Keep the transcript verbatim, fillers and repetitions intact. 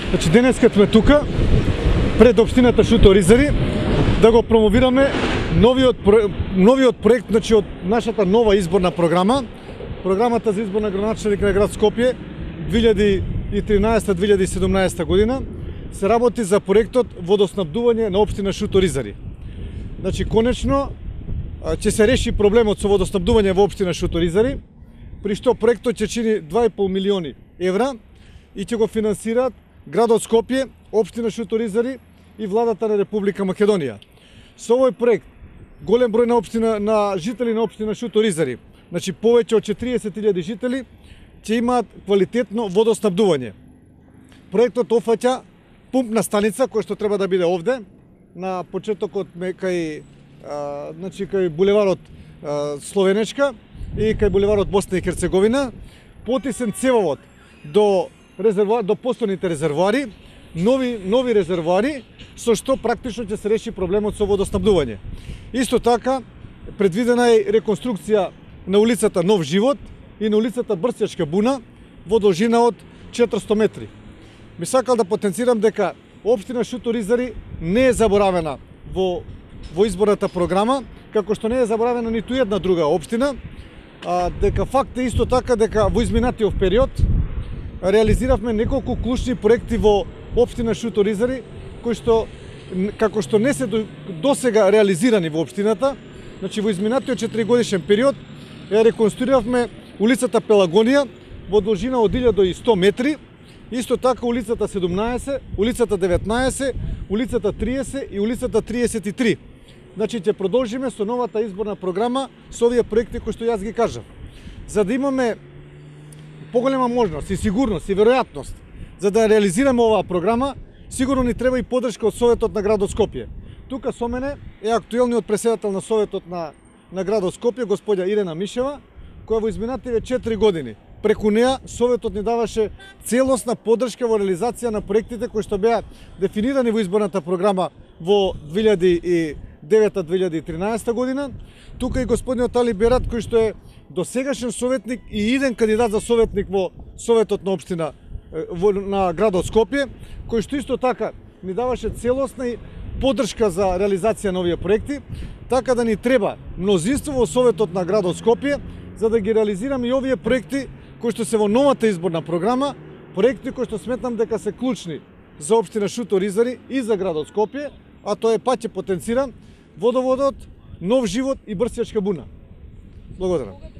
Значи денеска сме тука пред општината Шуто-Ризари да го промовираме новиот новиот проект, значи од нашата нова изборна програма, програмата за избор на градоначелник на град Скопје две илјади и тринаесета до две илјади и седумнаесета година. Се работи за проектот водоснабдување на општина Шуто-Ризари. Значи конечно ќе се реши проблемот со водоснабдување во општина Шуто-Ризари, при што проектот ќе чини два и пол милиони евра и ќе го финансираат градот Скопје, општина Шуто-Ризари и владата на Република Македонија. Со овој проект голем број на општина на жители на општина Шуто-Ризари, значи повеќе од четириесет илјади жители ќе имаат квалитетно водоснабдување. Проектот офаќа пумпна станица која што треба да биде овде на почетокот кај а, значи кај булеварот а, Словенечка и кај булеварот Босна и Херцеговина, потисен цевовод до резервоар, до постојните резервоари, нови нови резервоари со што практично ќе се реши проблемот со водоснабдување. Исто така предвидена е реконструкција на улицата Нов живот и на улицата Брстјачка буна во должина од четиристотини метри. Ми сакал да потенцирам дека општина Шуто-Ризари не е заборавена во во изборната програма, како што не е заборавена ниту една друга општина, а, дека факт е исто така дека во изминатиот период реализиравме неколку клучни проекти во општина Шуто-Ризари, кои што како што не се досега реализирани во општината. Значи во изминатиот четиригодишен период ја реконструиравме улицата Пелагонија во должина од илјада и сто метри, исто така улицата седумнаесет, улицата деветнаесет, улицата триесет и улицата триесет и три. Значи ќе продолжиме со новата изборна програма со овие проекти кои што јас ги кажав. За да имаме поголема можност и сигурност и веројатност за да реализираме оваа програма, сигурно ни треба и поддршка од Советот на градот Скопје. Тука со мене е актуелниот претседател на Советот на на градот Скопје, господја Ирена Мишева, која во изминативе четири години преку неа Советот ни даваше целосна поддршка во реализација на проектите кои што беа дефинирани во изборната програма во две илјади и девета до две илјади и тринаесета година. Тука и господинот Али Берат, кој што е досегашен советник и иден кандидат за советник во Советот на општина во, на градот Скопје, кој што исто така ни даваше целосна поддршка за реализација на овие проекти, така да ни треба мнозинство во Советот на градот Скопје за да ги реализираме и овие проекти кои што се во новата изборна програма, проекти кои што сметнам дека се клучни за општина Шуто-Ризари и за градот Скопје, а тоа е, пак ќе потенцирам, водоводот, Нов живот и Брстјачка буна. Благодарам.